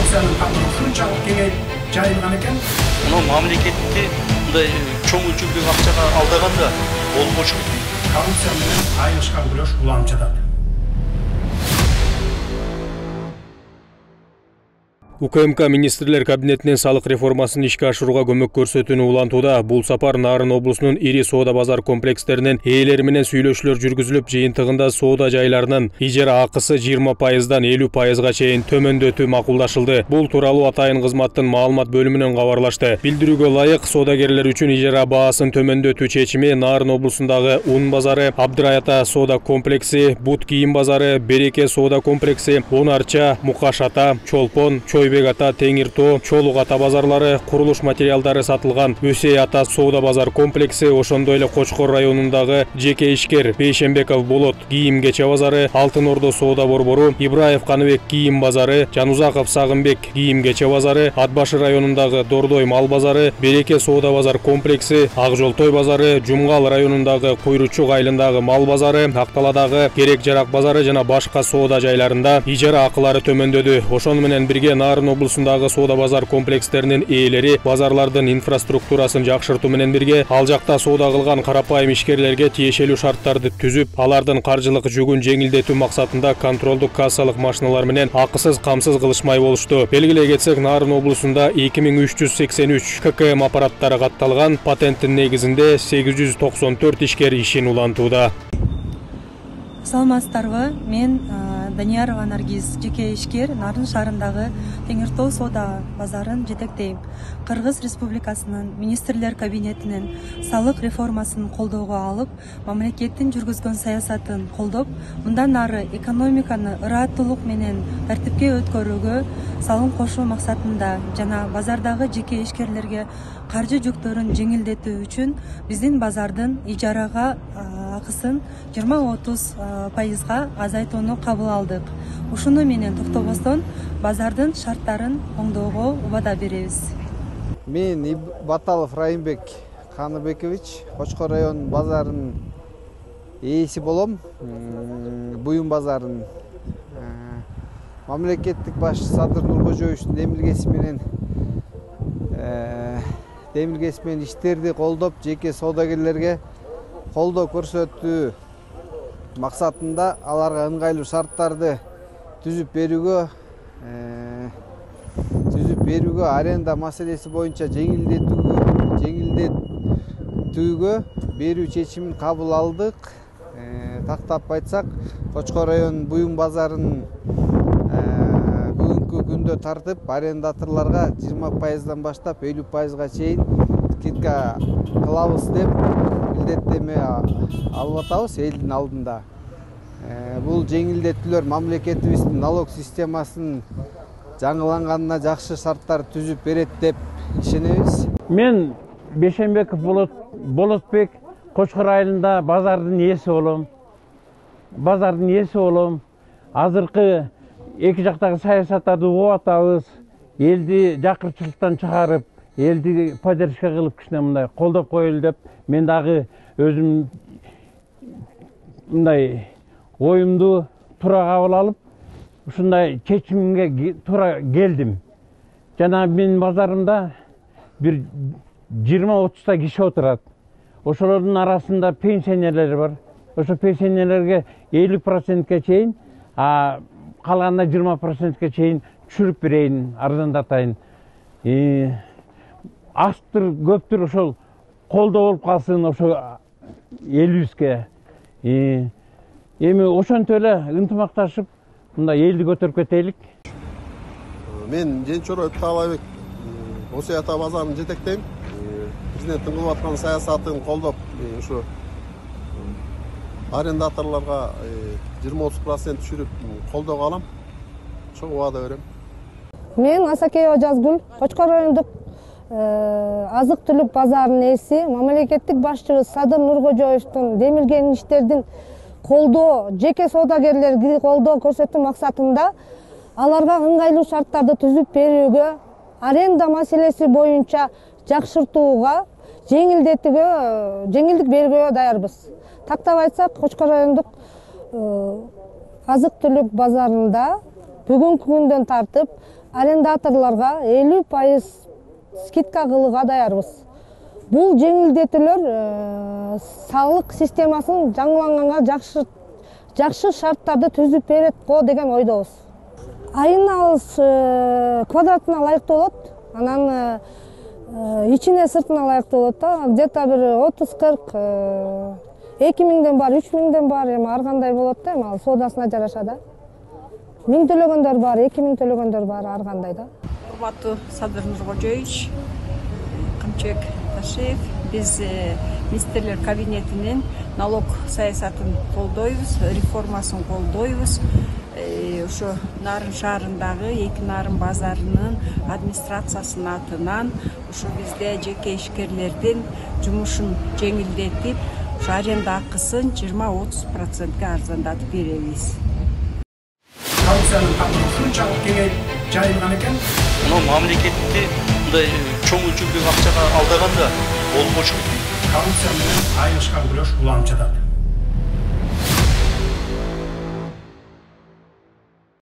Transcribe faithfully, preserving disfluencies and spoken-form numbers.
коррупциянын катары ушунчалык кеңейип жайылган экен. Мына мамлекетти мындай чоң өлчөмдөгү акчага алдаганда болбошу. Коррупция менен айылышкан күрөш уланып жатат. У К М К министрлер кабинетинен салык реформасын ишке ашырууга көмөк көрсөтүүнү улантууда. Бул сапар Нарын облусунун ири соода базар комплекстеринин ээлери менен сүйлөшүүлөр жүргүзүлүп, жыйынтыгында соода жайларынын ижара акысы жыйырма пайыздан элүү пайызга чейин төмөндөтүү макулдашылды. Бул тууралуу Атайын кызматтын маалымат бөлүмүнөн кабарлашты. Билдирүүгө ылайык, соодагерлер үчүн ижара баасын төмөндөтүү чечими Нарын облусундагы Ун базары, Абдырайата соода комплекси, Бут кийим базары, Береке соода комплекси, Он Арча, Мукаш ата, Чолпон, Чойбек ата, Теңир тоо, Чолук ата базарлары, курулуш материалдары сатылган Өсей ата соода базар комплекси, ошондой эле Кочкор районундагы жеке ишкер Бейшембеков Болот кийим кече базары, Алтын Ордо соода борбору, Ибраев Каныбек кийим базары, Жанузаков Сагынбек кийим кече базары, Атбашы районундагы Дордой мал базары, Береке соода базар комплекси, Ак Жолтой базары, Жумгал районундагы Куйручук айылындагы мал базары, Акталадагы Керек Жарак базары жана башка соода жайларында ижара акылары төмөндөдү. Ошону менен бирге Нарын облусундагы соода базар комплекстеринин ээлери базарлардын инфраструктурасын жакшыртуу менен бирге ал жакта соода кылган карапайым ишкерлерге тиешелүү шарттарды түзүп, алардын каржылык жүгүн жеңилдетүү максатында контролдук кассалык машиналар менен акысыз камсыз кылышмай болушту. Белгилей кетсек, Нарын облусунда эки миң үч жүз сексен үч К К М аппараттары катталган, патенттин негизинде сегиз жүз токсон төрт ишкер ишин улантууда. Саламатсыздарбы? Мен Даниярова Наргиз, жеке ишкер, Нарын шаарындагы Теңир тоо соода базарын жетектейм. Кыргыз Республикасынын министрлер кабинетинин салык реформасын колдоого алып, мамлекеттин жүргүзгөн саясатын колдоп, мындан ары экономиканы ыраттуулук менен тартипке өткөрүүгө салым кошуу максатында жана базардагы жеке ишкерлерге каржы жүктөрүн жеңилдетүү үчүн биздин базардын ижарага акысын жыйырма отуз пайызга азайтууну кабыл алдык. Ушуну менен токтобостон базардын шарттарын оңдоого убада беребиз. Мен Баталов Райымбек Каныбекович, Кочкор район базарынын ээси болом. Буюм базарын мамлекеттик башчы Садыр Нуркожоевичтин демилгеси менен демилгеси менен иштерди колдоп, жеке соодагерлерге колдоо көрсөтүү максатында аларга ыңгайлуу шарттарды түзүп берүүгө түзүп берүүгө аренда маселеси боюнча жеңилдетүүгө жеңилдетүүгө берүү чечимин кабыл алдык. Тактап айтсак, Кочкор район буюм базарынын бүгүнкү күндө тартып арендаторлорго жыйырма пайыздан баштап элүү пайызга чейин скидка кылабыз деп милдеттеме алып атабыз элдин алдында. Бул жеңилдетүүлөр мамлекетибиздин налог системасынын жаңыланганына жакшы шарттар түзүп берет деп ишенебиз. Мен Бейшембеков Болот Болотбек Кочкор айылында базардын ээси болом. Базардын ээси болом. Азыркы эки жактагы саясаттарды угуп атабыз. Элди жакырчылыктан чыгарып, элди поддержка кылып кичине мындай колдоп коелу деп мен дагы өзүм мындай оюмду туура кабыл алып, ушундай чечимге туура келдим. Жана менин базарымда бир жыйырма отузда киши отурат. Ошолордун арасында пенсионерлер бар. Ошо пенсионерлерге элүү процентке чейин, а калганына жыйырма процентке чейин түшүрүп берейин, арзандатайын. Азтыр, көптүр ошол колдоо болуп калсын ошо элибизге. Эми ошонтип эле ынтымакташып, мындай элди көтөрүп кетелик. Мен Женчоров Таалайбек Өсей ата базарын жетектейм. Президенттин кылып аткан саясатын колдоп, ушу арендаторлорго жыйырма отуз процент түшүрүп колдоого алам. Ошого убада берем. Мен Асакеева Жазгүл, Кочкор райондук азык түлүк базарынын ээси, мамлекеттик башчыбыз Садыр Нуркожоевдун демилген иштердин колдоо, жеке соодагерлерди колдоо көрсөтүү максатында аларга ыңгайлуу шарттарды түзүп берүүгө, аренда маселеси боюнча жакшыртууга, жеңилдетүүгө, жеңилдик берүүгө даярбыз. Тактап айтсак, Кочкор райондук азык түлүк базарында бүгүнкү күндөн тартып арендаторлорго элүү пайыз скидка кылууга даярбыз. Бул жеңилдетүүлөр салык системасын жаңыланганга жакшы жакшы шарттарды түзүп берет го деген ойдобуз. Айына алыс квадратына ылайыктуу болот. Анан ичине сыртына ылайыктуу болот да. Где-то бир отуз кырк эки миңден бар, үч миңден бар, эми ар кандай болот да, эми ал соодасына жараша да. Миң төлөгөндөр бар, эки миң төлөгөндөр бар, ар кандай да. Урматтуу Садыр Нуркожоевич, Камчыбек Ташиев, биз министрлер кабинетинин налог саясатын колдойбуз, реформасын колдойбуз. Ошо Нарын шаарындагы эки нарын базарынын администрациясынын атынан ошо бизде жеке ишкерлердин жумушун жеңилдетип, ошо аренда акысын жыйырма отуз процентке арзандатып беребиз. Коррупциянын камыры ушунчалык кеңейип жайылган экен. Мына мамлекетти мындай чоң өлчөмдөгү акчага алдаганда болбочу. Коррупция менен айылышкан күрөш уланып жатат.